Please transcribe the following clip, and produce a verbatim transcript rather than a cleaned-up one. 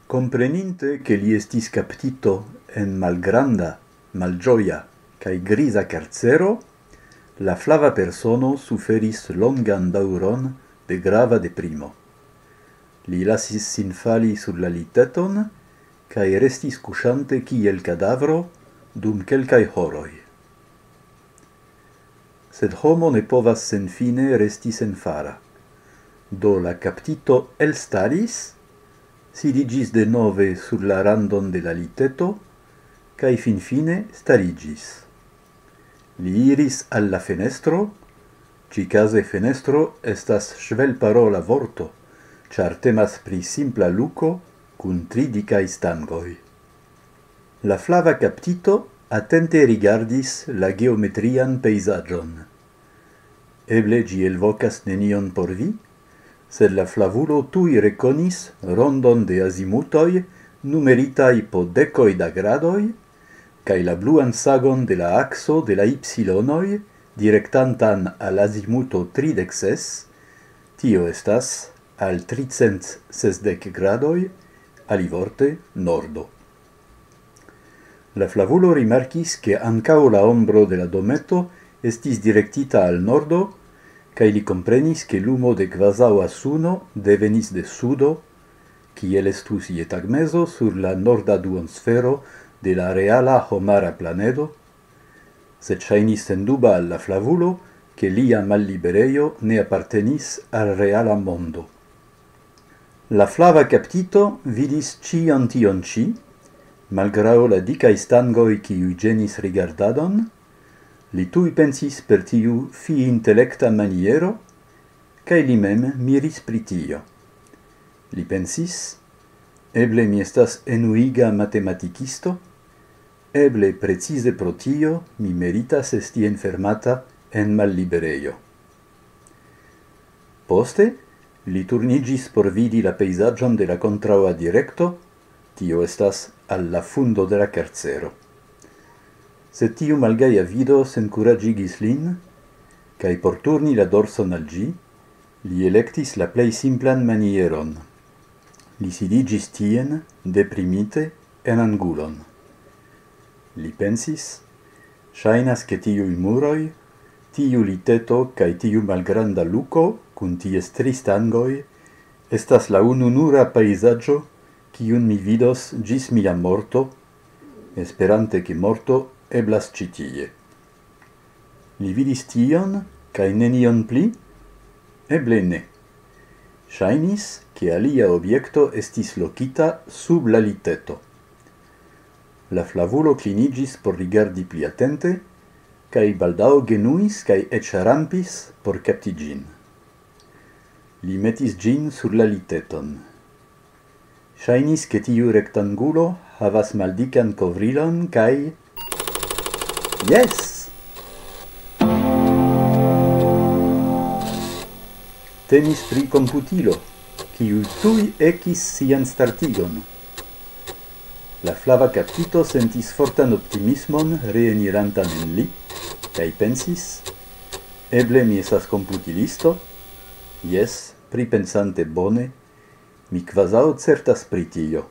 Kompreninte, ke li estis kaptito en malgranda, malĝoja kaj griza karcero, la flava persono suferis longan daŭron de grava deprimo. Li lasis sin fali sur la liteton kaj restis kuŝante kiel kadavro dum kelkaj horoj. Sed homo ne povas senfine resti senfara. Do la kaptito elstaris, sidiĝis denove sur la randon de la liteto, kaj finfine stariĝis. Li iris al la fenestro, ĉikaze fenestro estas ŝvelparola vorto, ĉar temas pri simpla luko kun tri dikaj stangoj. La flava kaptito atente rigardis la geometrian pejzaĝon. Eble ĝi elvokas nenion por vi, sed la flavulo tuj rekonis rondon de azimutoj numeritaj po dekoj da gradoj, kaj la bluan sagon de la akso de la ipsilonoj direktantan al azimuto tridek ses, tio estas al tricent sesdek gradoj, alivorte nordo. La flavulo rimarkis, ke ankaŭ la ombro de la dometo estis direktita al nordo, kaj li komprenis, ke lumo de kvazaŭa suno devenis de sudo, kiel estus je tagmezo sur la norda duonsfero de la reala homara planedo, sed ŝajnis senduba al la flavulo, ke lia malliberejo ne apartenis al reala mondo. La flava kaptito vidis ĉion tion ĉi, malgraŭ la dikaj stangoj, kiuj ĝenis rigardadon, li tuj pensis per tiu fiintelekta maniero, kaj li mem miris pri tio. Li pensis: "Eble mi estas enuiga matematikisto, eble precize pro tio mi meritas esti enfermata en malliberejo." Poste li turniĝis por vidi la pejzaĝon de la kontraŭa direkto, tio estas al la fundo de la karcero. Sed tiu malgaja vido senkuraĝigis lin, kaj por turni la dorson al ĝi, li elektis la plej simplan manieron. Li sidiĝis tien, deprimite, en angulon. Li pensis: "Ŝajnas, ke tiuj muroj, tiu liteto kaj tiu malgranda luko kun ties tri stangoj estas la ununura pejzaĝo, kiun mi vidos ĝis mia morto, esperante, ke morto eblas ĉi tie." Li vidis tion, kaj nenion pli? Eble ne. Ŝajnis, ke alia objekto estis lokita sub la liteto. La flavulo kliniĝis por rigardi pli atente, kaj baldaŭ genuis kaj eĉ rampis por kapti ĝin. Li metis ĝin sur la liteton. Ŝajnis, ke tiu rektangulo havas maldikan kovrilon, kaj... Jes! Temis pri komputilo, kiu tuj ekis sian startigon. La flava kaptito sentis fortan optimismon reenirantan en li, kaj pensis: "Eble mi estas komputilisto? Jes, pripensante bone, mi kvazaŭ certas pri tio."